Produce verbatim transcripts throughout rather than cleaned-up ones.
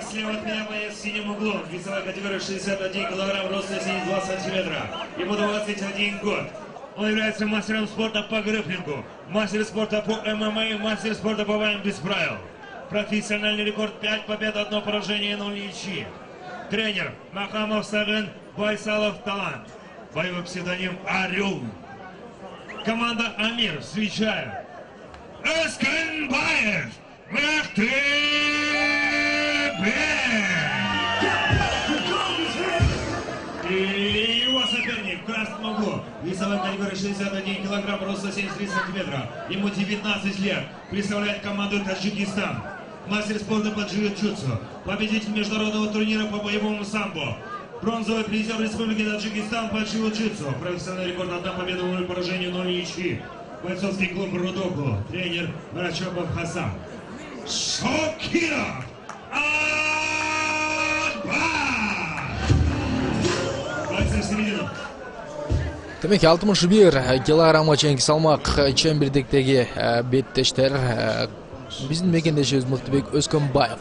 Итак, слева от меня боец в синем углу. Весовая категория шестьдесят один килограмм, рост семьдесят два сантиметра. Ему двадцать один год. Он является мастером спорта по грэпплингу, мастер спорта по эм эм а, мастер спорта по боям без правил. Профессиональный рекорд пять побед, одно поражение, ноль ничьи. Тренер Махамов Сагын Байсалов Талант. Боевой псевдоним Орел. Команда Амир, встречая Эскенбаев Мехтебек. И его соперник в красном углу. Весовая категория шестьдесят один килограмм, роста семьдесят три сантиметра. Ему девятнадцать лет. Представляет команду Таджикистан. Мастер спорта по джиу-джитсу. Победитель международного турнира по боевому самбо. Бронзовый призер Республики Таджикистан по джиу-джитсу. Профессиональный рекорд, одна победа, ноль поражений, ноль ничьи. Бойцовский клуб Рудоку. Тренер Рачапов Хасан. Шокиров Акбар. Бойцы в середину. Демек алтымыш бир килограммга чейинки салмак чембирдиктеги беттештер биздин мекендешибиз Мыктыбек Өскөнбаев.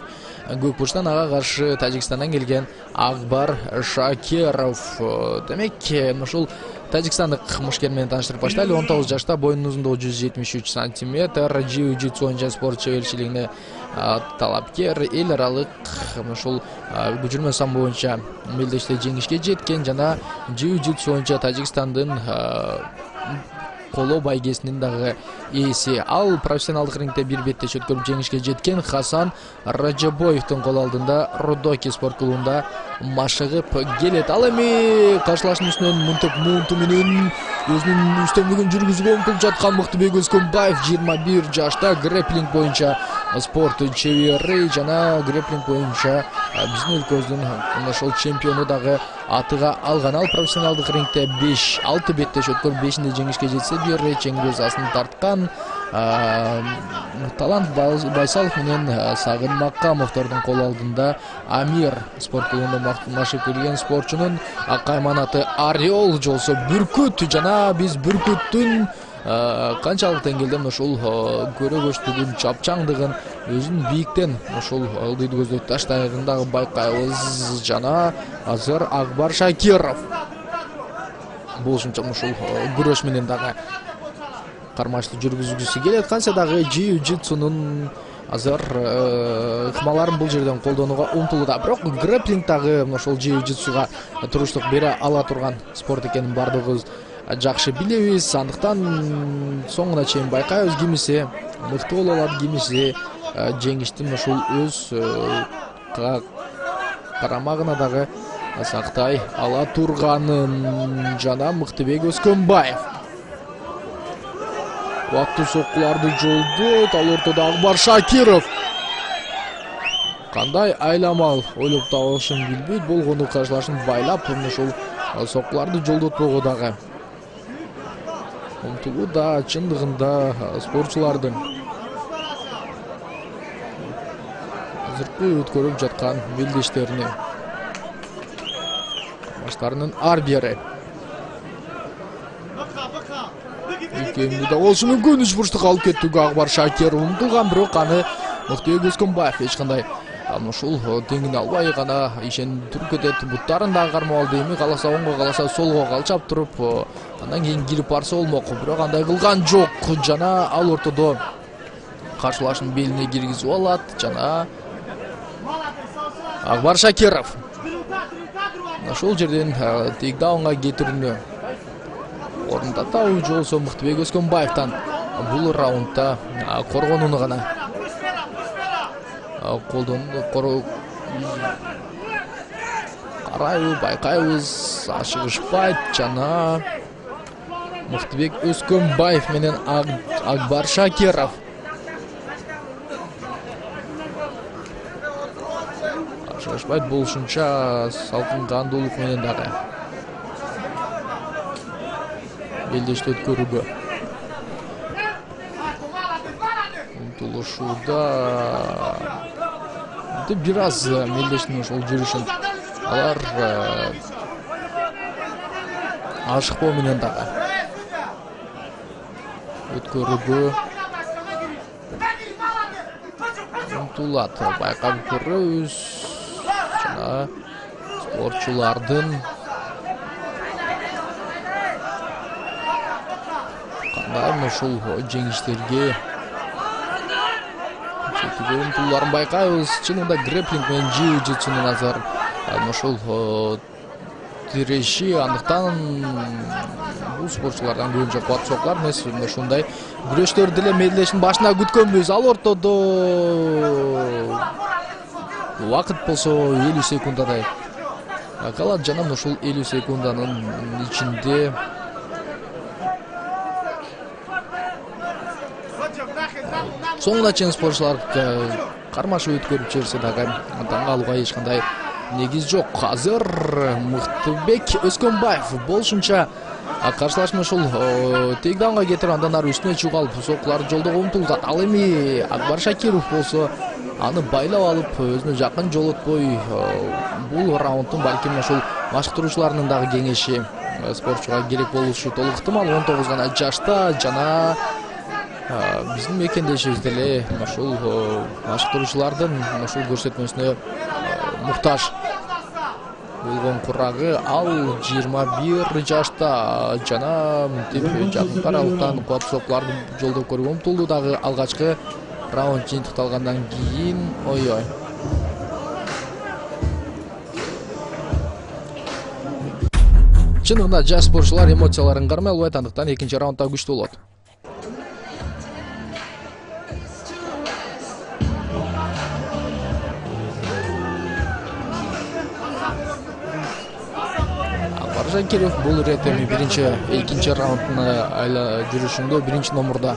Көк бурчтан ага каршы Тажикстандан келген Акбар Шакиров. Демек ушул тажикстандык мушкер менен тааныштырып баштайлы. он тогуз жашта, боюнун узундугу жүз жетимиш үч сантиметр, джиу-джитсу боюнча спорт чеберчилигине талапкер, эл аралык ушул көчүрмө самбо боюнча мелдеште жеңишке жеткен жана джиу-джитсу боюнча Тажикстандын коло байгесинин дагы ээси. Ал профессионалдык рингде бир беттеш өткөрүп жеңишке жеткен Хасан Раджабоевдун кол алдында Родоки спорт клубунда машыгып келет. Ал эми каршылашуунун үстүнөн мынтип муунту менен өзүнүн үстөмдүгүн жүргүзүүгө умтулуп жаткан Мыктыбек Өскөнбаев жыйырма бир жашта, грэпплинг боюнча спорт чебери жана грэпплинг боюнча биздин өлкөбүздүн ошол чемпиону дагы атыга алган. Ал профессионалдык рингде беш алты беттеш өткөрүп бешинде жеңишке жетсе, бир рет жеңил жазасын тарткан. Талант Байсалов менен Сагын Макамовдордун кол алдында Амир спорт клубунда машыгып келген спортчунун кайманаты Орел жолсо бүркүт жана биз бүркүттүн канчалык деңгээлде ушул көрөгөчтүгүн, чапчаңдыгын өзүн бийиктен ушул ылдыйды көздөй таштайын дагы байкайбыз. Жана азыр Акбар Шакиров болушунча ушул күрөш менен дагы кармаштуу жүргүзгүсү келет. Кантсе дагы джиу-джитсунун азыр ыкмаларын бул жерден колдонууга умтулууда. Бирок грэпплинг дагы ошол джиу-джитсуга туруштук бере ала турган спорт экенин бардыгыбыз жакшы билебиз. Андыктан соңуна чейин байкайбыз, кимиси мыкты боло алат, кимиси жеңиштин ушул өз карамагына дагы сактай ала турганын. Жана Мыктыбек Өскөнбаев Ваттуу соккуларды жолдойт. Ал ортодо Акбар Шакиров кандай айламал ойлоп табышын билбейт. Болгону каршылашын байлап ушул соккуларды жолдотпого дагы умтулууда. Чындыгында спортчулардын азыркы өткөрүп жаткан белдештерини баштарынын ар бири экөөмдү да болушу мүмкүн. Үч бурчтук алып кеттүүгө Акбар Шакиров умтулган, бирок аны Мыктыбек Өскөнбаев эч кандай ушул теңине албай гана ишенип туруп кетет. Буттарын дагы кармап алды. Эми каласа оңго, каласа солго калчап туруп андан кийин кирип барса болмок, бирок андай кылган жок. Жана ал ортодо каршылашын белине киргизип алат. Жана Акбар Шакиров ошол жерден тейкдаунга кетирүүнү орунтатабы же болбосо Мыктыбек Өскөнбаевден бул раундда коргонууну гана колдонду. Карайбы, байкайбыз, ашыгышпайт. Жана Мыктыбек Өскөнбаев менен Акбар Шакиров ашыгышпайт болушунча салкын кандуулук менен дагы белдешти өткөрүүгө умтулушууда. Бир аз мелдештин ошол жүрүшүн алар ашыкпоо менен дагы өткөрүүгө умтулат. Байкап көрөбүз. жана спортчулардын кандай ушул жеңиштерге жетүүгө умтулууларын байкайбыз. Чынында грэпплинг менен jiu-jitsu'нун азыр ушул тиреши, андыктан бул спортчулардан көбүнчө кубат сокулар эмес, ушундай күрөштөр деле медлештин башына күткөнбүз. Ал ортодо убакыт болсо элүү секундадай калат жана ушул элүү секунданын ичинде соңуна чейин спортчулар кармашып өткөрүп жиберсе дагы таң калууга эч кандай негиз жок. Азыр Мыктыбек Өскөнбаев болушунча каршылашманы ушул тейкдаунга кетирип, андан ары үстүнө чыгып алып сокуларды жолдоого умтулган. Ал эми Акбар Шакиров болсо аны байлап алып, өзүнө жакын жолотпой, бул раундтун балким ушул машыктыруучуларынын дагы кеңеши спортчуга керек болушу толук ыктымал. он тогуз гана жашта жана биздин мекендешибиз деле ушул машыктыруучулардын ушул көрсөтмөсүнө муктаж болгон курагы. Ал жыйырма бир жашта жана мынтип жакын аралыктан кубат сокуларды жолдоп көрүүгө умтулду. Дагы алгачкы раунд жыйынтыкталгандан кийин ой-ой. Чынында жаш спортчулар эмоцияларын кармай албайт, андыктан экинчи раундда күчтүү болот. Шакиров бул ирет эми биринчи экинчи раундтун жүрүшүндө биринчи номурда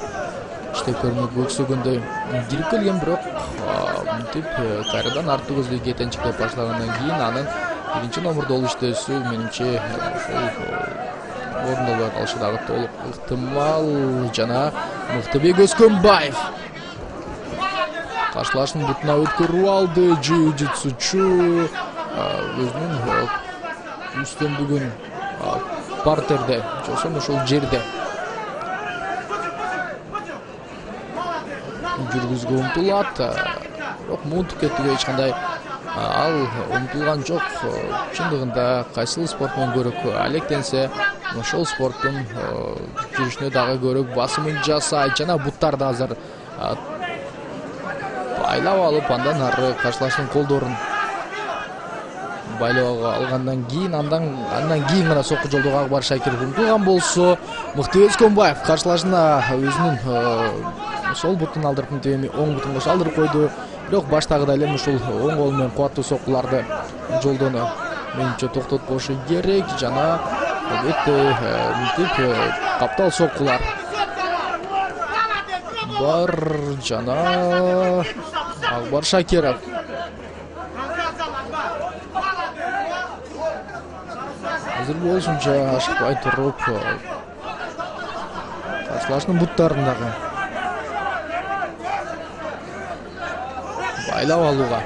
иштеп көрүнүп өксөгөндөй кирип келген, бирок мынтип кайрадан артты көздөй кетенчиктеп баштагандан кийин анын биринчи номурда болуп иштөөсү менимче ошол орундолбой калышы дагы толук ыктымал. Жана Мыктыбек Өскөнбаев каршылашын бутуна өткөрүп алды. Jiu-jitsuчу өзүнүн үстөмдүгүн партерде жосун ушул жерде жүргүзгө умтулат, бирок муунтуп кетүүгө эч кандай ал умтулган жок. Чындыгында кайсыл спорт менен көрөк алектенсе ошол спорттун жүрүшүнө дагы көрөк басымын жасайт жана буттарды азыр байлап алып, андан ары каршылаштын колдорун байлап алгандан кийин андан андан кийин гана сокку жолдоого Акбар Шакиров умтулган болсо, Мыктыбек Өскөнбаев каршылашына өзүнүн сол бутун алдырып, мынтип эми оң бутун кошо алдырып койду. Бирок баштагыдай эле ушул оң кол менен кубаттуу соккуларды жолдону менимче токтотпошу керек жана албетте мынтип каптал соккулар бар жана Акбар Шакиров азыр болушунча ашыкпай туруп каршылаштын буттарын дагы байлап алууга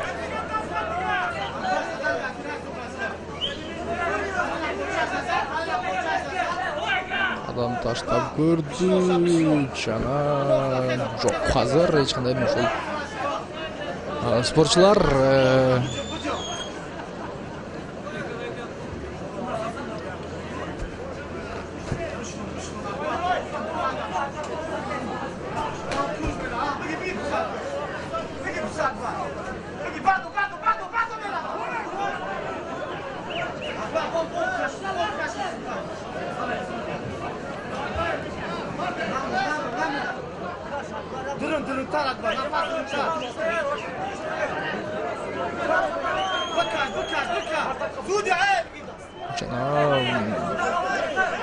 адам таштап көрдү жана жок, азыр эч кандай ушул спортчулар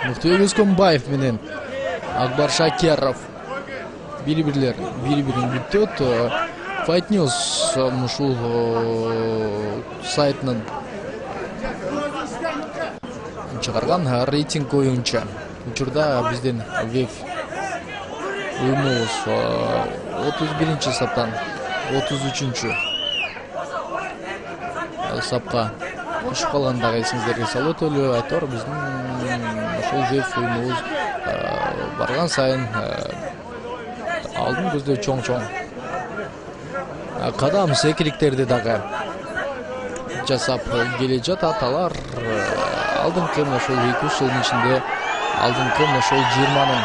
Мыктыбек Өскөнбаев менен Акбар Шакиров бири-бирлер бири-бирин бүттөт. Fight News ушул сайтынын чыгарган рейтинг боюнча учурда биздин веб уюмубуз отуз биринчи саптан отуз үчүнчү сапка түшүп калгандыгы эсиңиздерге салып өтөлү. Айтор биздин ошол веб уюмубуз барган сайын алдын көздөй чоң-чоң кадам секирикттерди дагы жасап келе жатат. Алар алдыңкы ошол эки үч жылдын ичинде алдыңкы ошол жыйырманын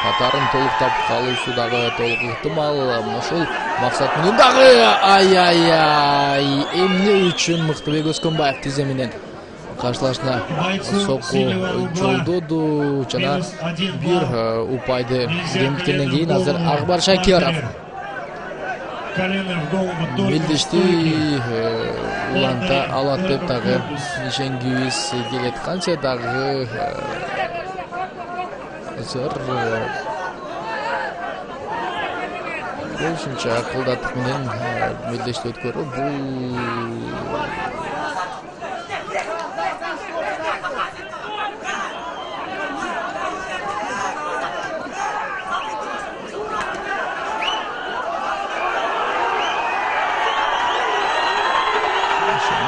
катарын толуктап калуусу дагы толук ыктымал. Ошол максат менен дагы ай-ай-ай эмне үчүн Мыктыбек Өскөнбаев тизе менен каршылашына сокку жолдоду жана бир упайды кемиткенден кийин азыр Акбар Шакиров мелдешти уланта алат деп дагы ишенгибиз келет. Канча дагы азыр ошончо кылдаттык менен мелдешти өткөрүү бул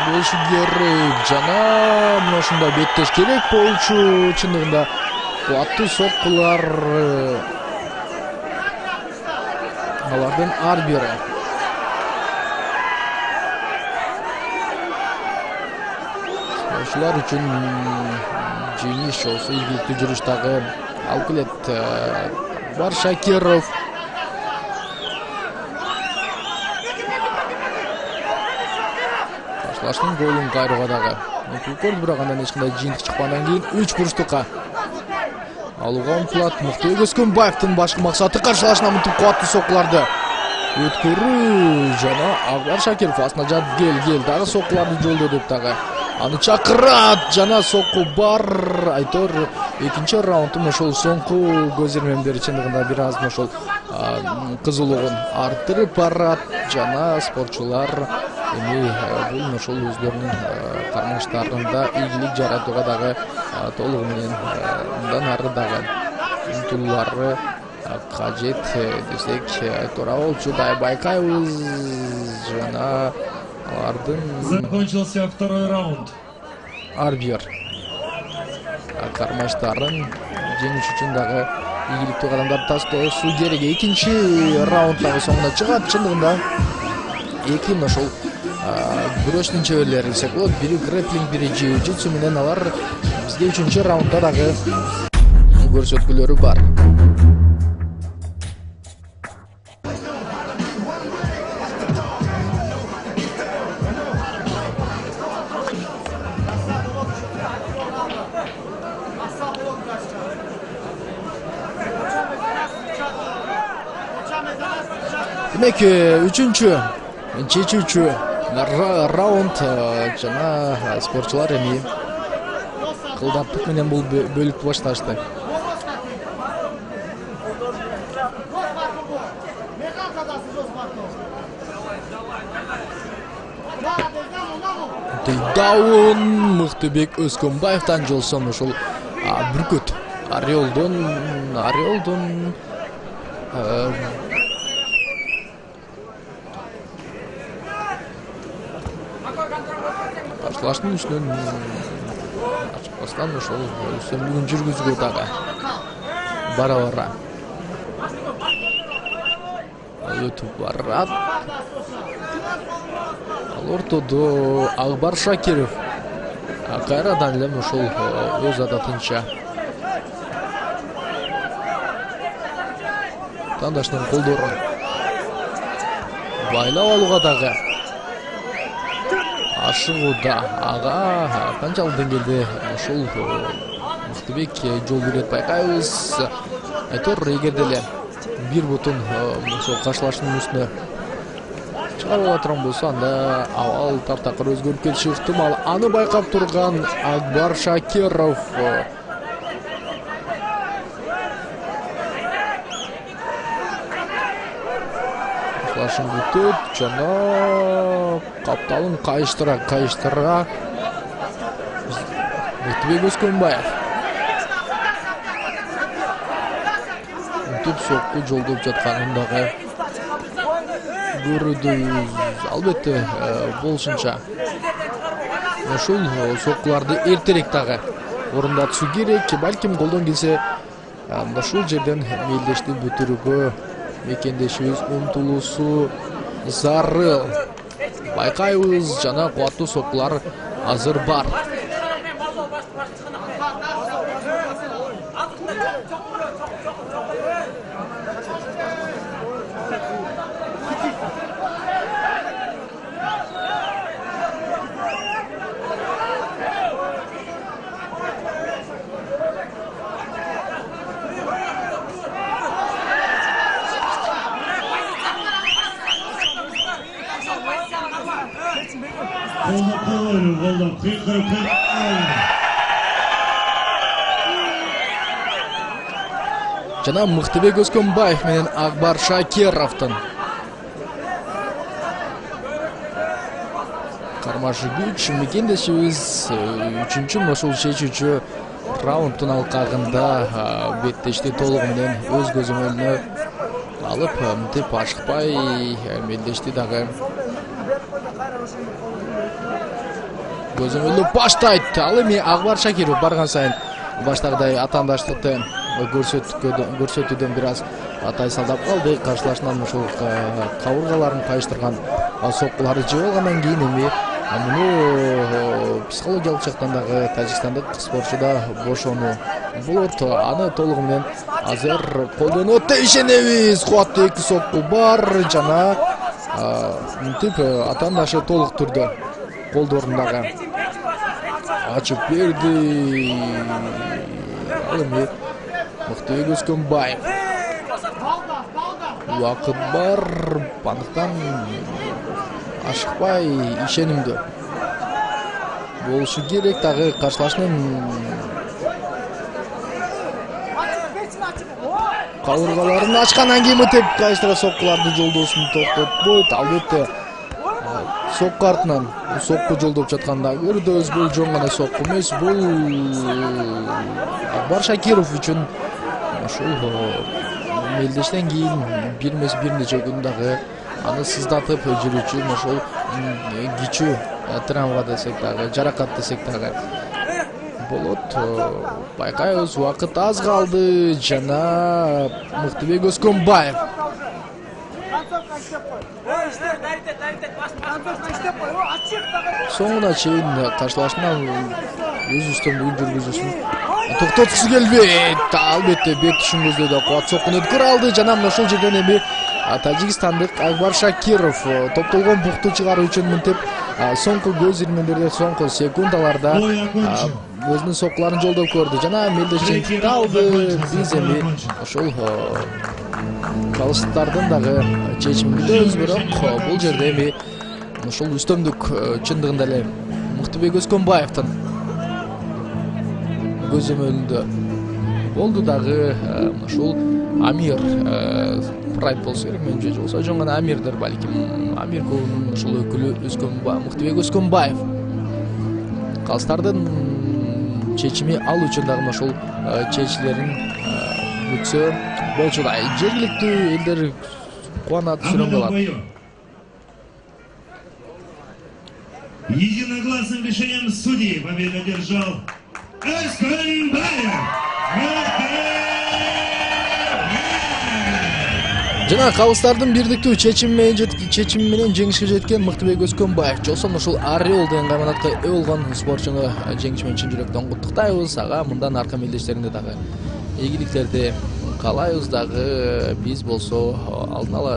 болушу керек жана мына ушундай беттеш керек болчу. Чындыгында кубаттуу соккулар алардын ар бири спортчулар үчүн жеңиш болсо ийгиликтүү жүрүш дагы алып келет. Бар Шакиров каршылаштын голун кайрууга дагы мүмкүнлүк көрдү, бирок андан эч кандай жыйынтык чыккандан кийин үч бурчтукка алууга умтулат. Мыктыбек Өскөнбаевдин башкы максаты каршылашына мынтип кубаттуу соккуларды өткөрүү жана Акбар Шакиров астына жат кел кел дагы соккуларды жолдо деп дагы аны чакырат жана сокку бар. Айтор экинчи раундтун ошол соңку көз ирмемдери чындыгында бир аз ошол кызуулугун арттырып барат жана спортчулар эми бул ошол өздөрүнүн карманыштарында ийгилик жаратууга дагы толугу менен мындан ары дагы умтулуулары кажет десек туура болчу. Дай байкайбыз жана алардын закончился второй раунд. ар бир кармаштарын жеңиш үчүн дагы ийгиликтүү кадамдарды таштоосу керек. Экинчи раунд дагы соңуна чыгат. Чындыгында эки ошол күрөштүн чеберлери десек болот. Бири грэпплинг, бири джиу-джитсу менен алар бизге үчүнчү раундда дагы көрсөткүлөрү бар. Демек үчүнчү чечүүчү раунд жана спортчулар эми кылдаттык менен бул бөлүктү башташты. Тейдаун Мыктыбек Өскөнбаевден жолсом ошол бүркөт Орелдон Орелдон каршылаштын үстүнөн ачыкпастан ошол үстөмдүгүн жүргүзүүгө дагы бара бара өтүп барат. Ал ортодо Акбар Шакиров кайрадан эле ошол өз адатынча тандашынын колдорун байлап алууга дагы ашыгууда. Ага канчалык деңгээлде ошол Мыктыбек жол берет байкайбыз. Айтор эгерде эле бир бутун ошол каршылаштын үстүнө чыгарып ала турган болсо анда абал таптакыр өзгөрүп кетиши ыктымал. Аны байкап турган Акбар Шакиров каршылашын бүтөт жана капталын кайыштыра кайыштыра Мыктыбек Өскөнбаев мынтип сокку жолдоп жатканын дагы көрдүбүз. Албетте болушунча ушул соккуларды эртерээк дагы орундатуу керек. Балким колдон келсе ушул жерден мелдешти бүтүрүүгө мекендешибиз умтулуусу зарыл. байкайбыз, жана кубаттуу соккулар азыр бар. Колдоп коелу, колдоп, кыйкырып Жана Мыктыбек Өскөнбаев менен Акбар Шакировдун кармашы күч мекендешибиз үчүнчү ошол чечүүчү раунддун алкагында беттешти толугу менен өз көзөмөлүнө алып, мынтип ашыкпай мелдешти дагы. Көзөмөлдү баштайт. Ал эми Акбар Шакиров барган сайын баштагыдай атаандаштыкты көрсөтүүдөн бир аз тайсалдап калды. Каршылашынан ошол кабыргаларын кайыштырган соккуларды жеп алгандан кийин эми муну психологиялык жактан дагы тажикстандык спортчуда бошонуу болот. Аны толугу менен азыр колдонот деп ишенебиз. Кубаттуу эки сокку бар жана мынтип атаандашы толук түрдө колдорун дагы ачып берди. Ал эми Мыктыбек Өскөнбаев. Убакыт бар, андыктан ашыкпай ишенимдүү болушу керек. Дагы каршылашынын кабыргаларын ачкандан кийин мынтип кайыштыра соккуларды жолдоосун токтотпойт. Албетте сокку артынан сокку жолдоп жатканда көрдү, бул жөн гана сокку эмес, бул Акбар Шакиров үчүн ошол мелдештен кийин бир эмес бир нече күн дагы аны сыздатып жүрүүчү ошол кичүү травма десек дагы, жаракат десек дагы болот. Байкайбыз, убакыт аз калды жана Мыктыбек Өскөнбаев соңуна чейин каршылашынан өз үстөмдүгүн жүргүзүүсүн токтоткусу келбейт. Албетте бет түшүн көздөдө кубат соккуну өткөрө алды жана мына ошол жерден эми тажикстандык Акбар Шакиров топтолгон букту чыгаруу үчүн мынтип соңку көз ирмемдерде, соңку секундаларда өзүнүн соккуларын жолдоп көрдү жана мелдешчиликти алды. Биз эми ошол калыштардын дагы чечимин күтөбүз, бирок бул жерде эми ошол үстөмдүк чындыгында эле Мыктыбек Өскөнбаевдин көзөмөлүндө болду. Дагы ошол Амир Прайд болсо керек, менимче же болсо жөн гана Амирдер балким. Амир клубунун ошол өкүлү Мыктыбек Өскөнбаев калыстардын чечими ал үчүн дагы ошол чечилерин күтсө болчудай. Жергиликтүү элдер кубанат, сүрөңгө алат. Единогласным решением судей победу одержал Өскөнбаев. Жана калыстардын бирдиктүү чечими менен жеңишке жеткен Мыктыбек Өскөнбаев жолсон ошол Орел деген кайманатка ээ болгон спортчуну жеңиш менен чын жүрөктөн куттуктайбыз. Ага мындан арка мелдештеринде дагы ийгиликтерди каалайбыз. Дагы биз болсо алдын ала